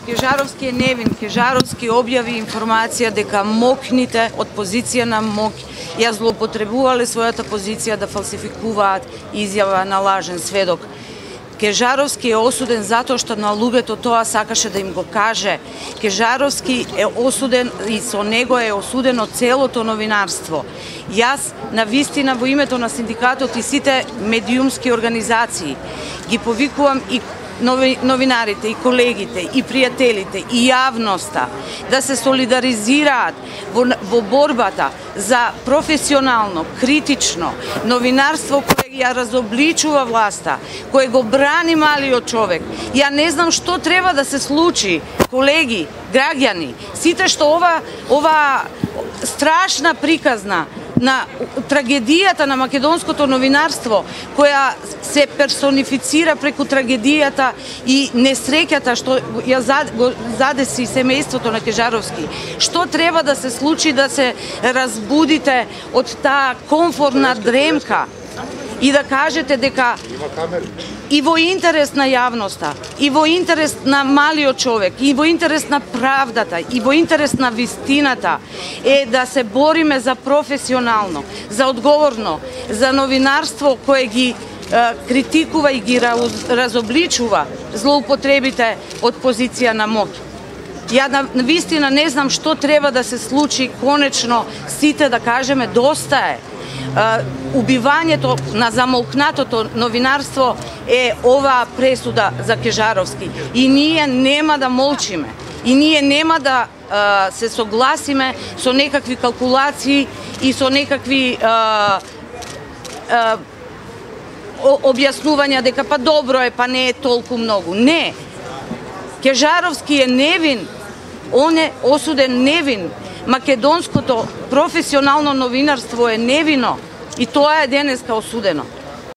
Кежаровски е невин. Кежаровски објави информација дека МОК-ните од позиција на МОК ја злоупотребувале својата позиција да фалсификуваат изјава на лажен сведок. Кежаровски е осуден затоа што на луѓето тоа сакаше да им го каже. Кежаровски е осуден и со него е осудено целото новинарство. Јас, на вистина, во името на синдикатот и сите медиумски организации, ги повикувам и новинарите, и колегите, и пријателите, и јавноста да се солидаризираат во борбата за професионално, критично новинарство кое ја разобличува власта, кое го брани малиот човек. Ја не знам што треба да се случи, колеги, граѓани, сите што ова страшна приказна на трагедијата на македонското новинарство, која се персонифицира преку трагедијата и несреќата што ја задеси семејството на Кежаровски. Што треба да се случи да се разбудите од таа комфортна дремка и да кажете дека и во интерес на јавноста, и во интерес на малиот човек, и во интерес на правдата, и во интерес на вистината е да се бориме за професионално, за одговорно, за новинарство кое ги критикува и ги разобличува злоупотребите од позиција на МОК. Ја на вистина не знам што треба да се случи конечно сите да кажеме доста е. Убивањето на замолкнатото новинарство е оваа пресуда за Кежаровски. И ние нема да молчиме. И ние нема да се согласиме со некакви калкулации и со некакви објаснувања дека па добро е, па не е толку многу. Не. Кежаровски е невин. Он е осуден невин. Македонското професионално новинарство е невино и тоа е денеска осудено.